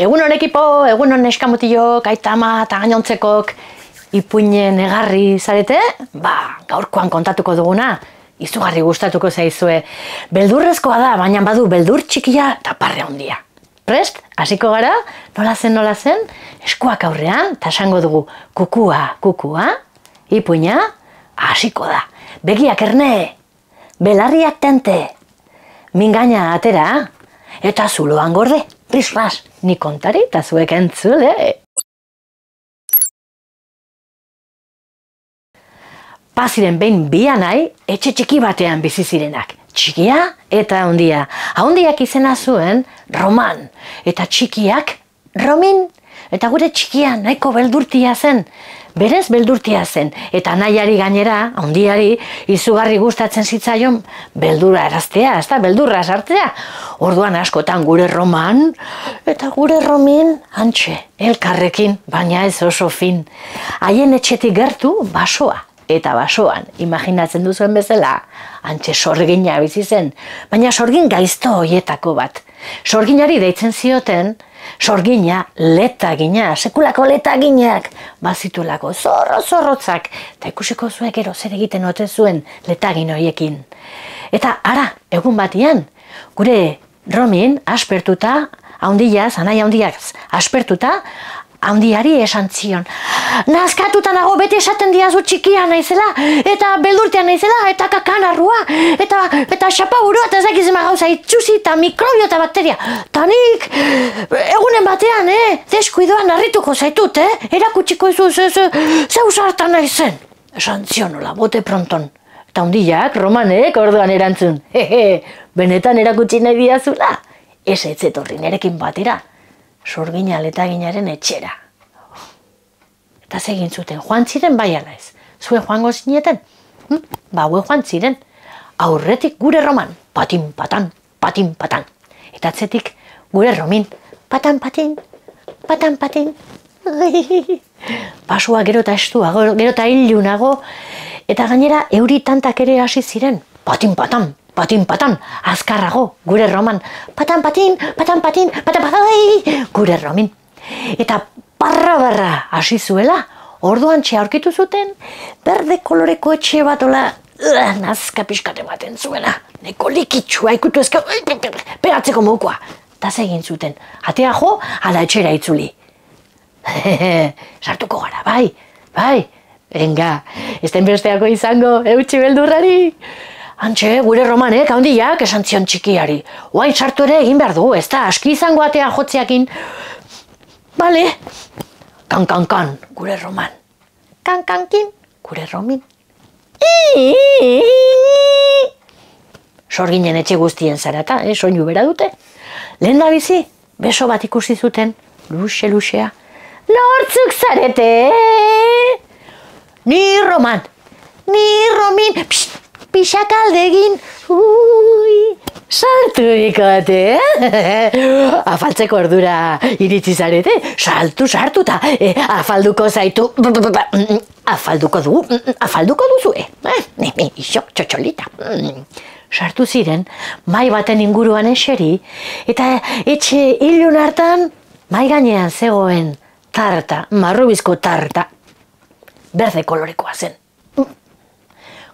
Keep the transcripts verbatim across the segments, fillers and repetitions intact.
Egun hon ekipo, egun hon eskamutilok, aitama eta gainontzekok ipuinen egarri zarete? Ba, gaurkoan kontatuko duguna, izugarri gustatuko zaizue. Beldurrezkoa da, baina badu beldur txikia eta parre handia. Prest, hasiko gara, nola zen, nola zen, eskuak aurrean, eta esango dugu kukua, kukua, ipuina, hasiko da. Begiak erne, belarriak tente, mingaina atera, eta zuloan gorde, risras, ni kontari eta zuek entzule. Baziren behin bi anai, etxe txiki batean bizi zirenak. Txikia eta handia. Handiak izena zuen Roman, eta txikiak Romin. Eta gure txikia nahiko beldurtia zen. Berez beldurtia zen, eta nahiari gainera, handiari, izugarri gustatzen zitzaion beldura eraztea, ez da, beldurra sartzea. Orduan askotan gure Roman, eta gure Romin, hantxe, elkarrekin, baina ez oso fin. Haien etxetik gertu, basoa. Eta basoan, imaginatzen duzuen bezala, hantxe sorgina bizi zen, baina sorgin gaizto hoietako bat. Sorginari deitzen zioten, sorgina letagina, sekulako letaginak, bazituelako zorro-zorrotzak, eta ikusiko zuek gero zer egiten ote zuen letagin horiekin. Eta ara, egun batian, gure Romin aspertuta, haundiaz, anai haundiak aspertuta, handiari esan zion. Nazkatuta nago beti esaten diazu txikia naizela, eta beldurtean naizela, eta kakanarrua, eta, eta xapaburua, eta ezakizema gauza itxusi, eta mikrobio eta bakteria. Ta nik, egunen batean, eh, deskuidoan harrituko zaitut, eh, erakutsiko izu, ze, ze, ze usartan naizen. Esan zion nola, bote pronton. Eta handiak, Romanek, orduan erantzun. Hehe, benetan erakutsi nahi diazula. Ez ez etorri nerekin batera. Sorgina letaginaren etxera. Eta zegin zuten, joan ziren bai ala ez. Zue joango zineten? Hm? Ba, hue joan ziren. Aurretik gure Roman, patin, patan, patin, patan. Eta atzetik gure Romin, patan, patin, patan, patin. Pasua gero eta estuago, gero eta ilunago. Eta gainera euri tantak ere hasi ziren. Patin, patan, patin, patan, azkarrago, gure Roman, patan, patin, patan, patin, patan, patai, gure Romin. Eta barra-barra hasi zuela, orduan txe aurkitu zuten, berde koloreko etxe bat ola, nazka pixkate baten zuena, neko likitsua ikutu ezka, peratzeko mokoa. Eta zegin zuten, atea jo, ala etxera itzuli. Sartuko gara, bai, bai, venga, ez den besteako izango, eutxi beldurrari. Hantxe, gure Romanek, handiak, esan zion txikiari. Oain sartu ere egin behar du, ez da, aski izango atea jotzeakin. Bale. Kan, kan, kan, gure Roman. Kan, kan, kin, gure Romin. Sorginen etxe guztien zarata, eh, soinu bera dute. Lehen da bizi, beso bat ikusi zuten, luxe-luxea. Nortzuk zarete? Ni Roman, ni Romin, psst. Pixak aldegin, ui, saltu ikote, eh? Afaltzeko ordura iritsi zarete, saltu, sartu eta eh, afalduko zaitu, afalduko du, afalduko duzu, eh? Isok, txotxolita. Sartu ziren, mai baten inguruan eseri, eta etxe ilun hartan, mai gainean zegoen tarta, marrubizko tarta, berde kolorekoa zen.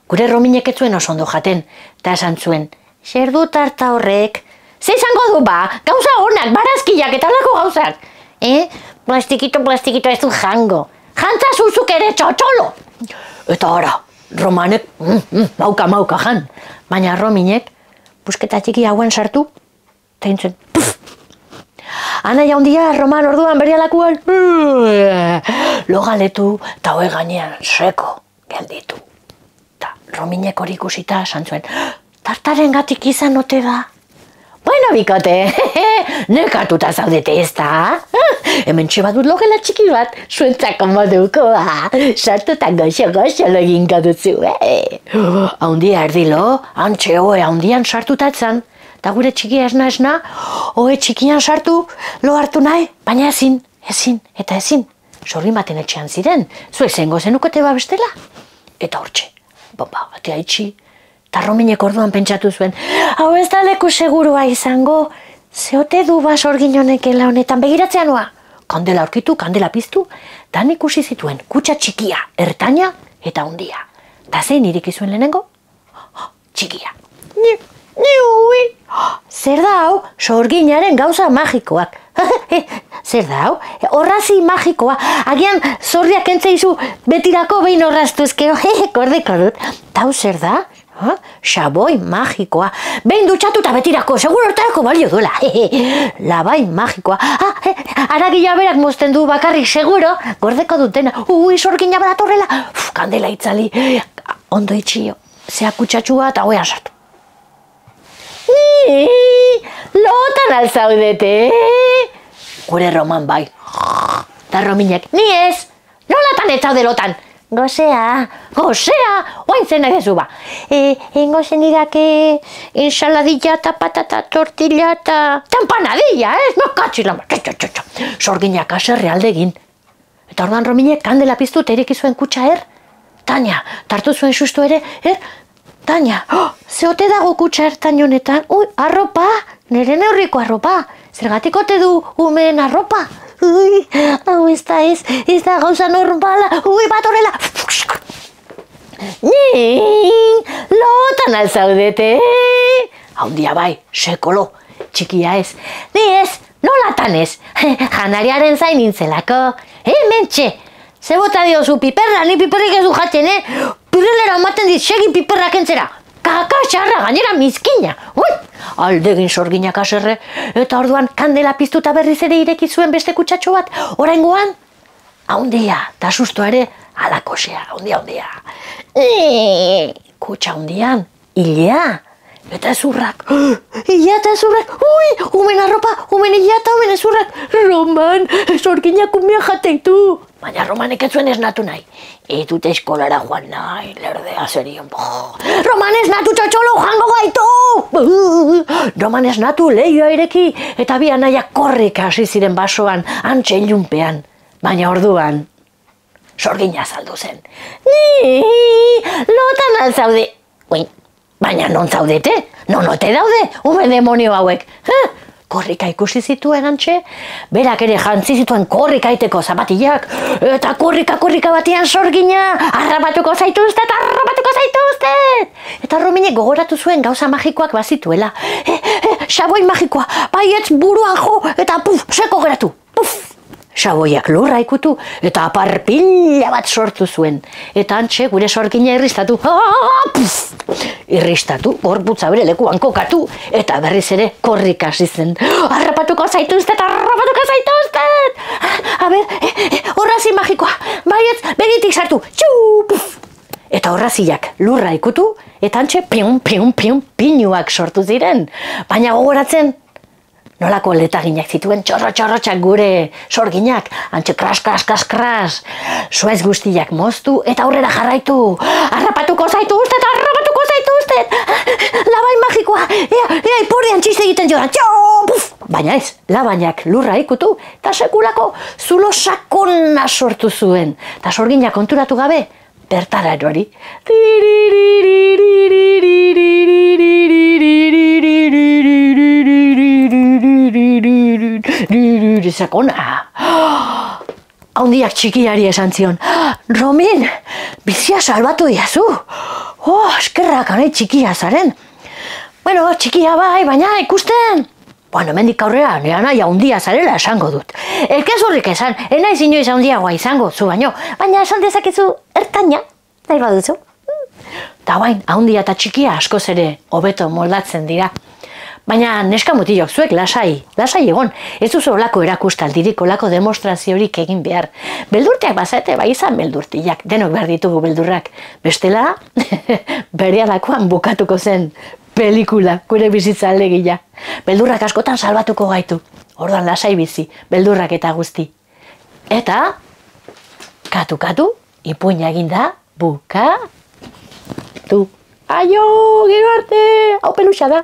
Gure Rominek ez zuen oso ondo jaten, eta esan zuen, zer du tarta horrek? Ze izango du ba, gauza honak, barazkiak eta lako gauzak. Eh? Plastikito, plastikito ez du jango. Jantza zuzuk ere txotxolo. Eta ora, Romanek, mm, mm, mauka, mauka jan. Baina Rominek, busketa txiki hauen sartu, eta intzuen, puf! Anai handia, Roman orduan berialakuan, logaletu, eta hoe gainean seko gelditu. Rominek hori ikusita esan zuen, tartaren gatik izan ote da. Bueno, bikote, nekatuta zaudete ez da? Hemen txebadut logela txiki bat, zuentzako moduko, sartuta goxo-goxo loginko duzu. Haundia erdilo, hantxe hoe haundian sartuta etzan, eta gure txikia esna esna, hoe txikian sartu, lo hartu nahi, baina ezin, ezin, eta ezin. Sorgin baten etxean ziren, zuek zengo zenukote babestela, eta hortxe. Bomba, batea itxi, eta Rominek orduan pentsatu zuen, hau ez da leku segurua izango, zeote du ba sorgin honekela honetan begiratzea noa? Kandela aurkitu, kandela piztu, dan ikusi zituen kutxa txikia, ertaina eta hundia. Ta zein ireki zuen lehenengo? Txikia. Ni, ni ui. Zer da hau? Sorginaren gauza magikoak. Zer da hau? Horrazi magikoa. Agian zorriak entzeizu betirako behin horraztuzkeo. Kordeko dut. Tau zer da? Xaboi magikoa. Behin dutxatu eta betirako. Seguro hortarako balio duela. Labai magikoa. Aragila berak mozten du bakarrik seguro. Gordeko dutena. Ui, sorgina badatorrela. Kandela itzali. Ondo itxio. Zea kutsatxua eta hoean sartu. Lotan alzaudete. Gure Roman bai. Da Rominek, ni ez. Nolatan ez zaude lotan? Gozea, gozea, oain zen egezu ba. Engo zen irake ensaladilla eta patata tortilla eta empanadilla, ez? No katxila, sorginak aserre aldegin. Eta orduan Rominek kandela piztu eta ireki zuen kutxa er. Tania, tartu zuen sustu ere, er? Tania, zeote dago kutxa ertain honetan? Ui, arropa, nire neurriko arropa. Zergatik ote du umeen arropa? Ui, hau ez da ez, ez da gauza normala. Ui, bat horrela. Ning, lotan alzaudete. Haundia bai, sekolo, txikia ez. Ni ez, nolatan ez. Janariaren zain nintzelako. Hemen txe, ze bota diozu piperra, ni piperrik ez du jatzen, eh? Pirelera ematen dit, segi piperrak entzera. Kaka xarra, gainera mizkina. Ui, aldegin sorginak aserre. Eta orduan kandela piztuta berriz ere ireki zuen beste kutsatxo bat. Oraingoan, haundia, ta sustoa ere, alakosea, haundia, haundia. E, kutsa haundian, hilea, eta ezurrak. Ila eta ezurrak, ui, umen arropa, umen ila eta umen ezurrak. Roman, sorginak umea jateitu. Baina Romanek ez zuen esnatu nahi. Ez dute eskolara joan nahi, lerdea zerion. Roman esnatu txotxolo jango gaitu! Roman esnatu lehioa ireki eta bi anaiak korrik hasi ziren basoan, antxe ilunpean. Baina orduan, sorgina azaldu zen. Ni, lotan alzaude. Ui, baina non zaudete? Non ote daude, ume demonio hauek. Korrika ikusi zituen antxe, berak ere jantzi zituen korrika iteko zapatillak, eta korrika korrika batean sorgina, harrapatuko zaituztet, harrapatuko zaituztet! Eta Rominek gogoratu zuen gauza magikoak bazituela. E, e, xaboi magikoa, baietz buruan jo, eta puf, seko geratu, puf! Xaboiak lurra ikutu, eta aparpila bat sortu zuen. Eta antxe gure sorgina irristatu, ah, puf! Irristatu, gorputza bere lekuan kokatu, eta berriz ere korrik hasi zen. Harrapatuko zaituztet, harrapatuko zaituztet! A ber, horrazi magikoa, baietz, begitik sartu, txu, puf! Eta horraziak lurra ikutu, eta antxe piun, piun, piun, pinuak sortu ziren. Baina gogoratzen, nolako letaginak zituen txorro txorrotxak gure sorginak, antxe kras, kras, kras, kras. Suez guztiak moztu eta aurrera jarraitu. Harrapatuko zaituztet, harrapatuko zaituztet! Labai magikoa, ea, ea, ipurdian txiste egiten joan, txo, puf! Baina ez, labainak lurra ikutu, eta sekulako zulo sakona sortu zuen. Eta sorginak konturatu gabe, bertara erori. Sakona. Haundiak txikiari esan zion. Romin, bizia salbatu diazu. Oh, eskerrak anai txikia zaren. Bueno, txikia bai, baina ikusten. Bueno, mendik aurrera, nire nahi haundia zarela esango dut. Elkezurrik esan, enaiz inoiz haundiagoa izango, zu baino. Baina esan dezakezu ertaina, nahi baduzu. Ta bain, haundia eta txikia askoz ere hobeto moldatzen dira. Baina neska mutilok, zuek lasai, lasai egon, ez duzu olako erakustaldirik, olako demostraziorik egin behar. Beldurteak bazate, bai izan beldurtiak, denok behar ditugu beldurrak. Bestela, berealakoan bukatuko zen pelikula, gure bizitza alegia. Beldurrak askotan salbatuko gaitu, orduan lasai bizi, beldurrak eta guzti. Eta, katu-katu, ipuina eginda, bukatu. Aio, gero arte, hau peluxa da.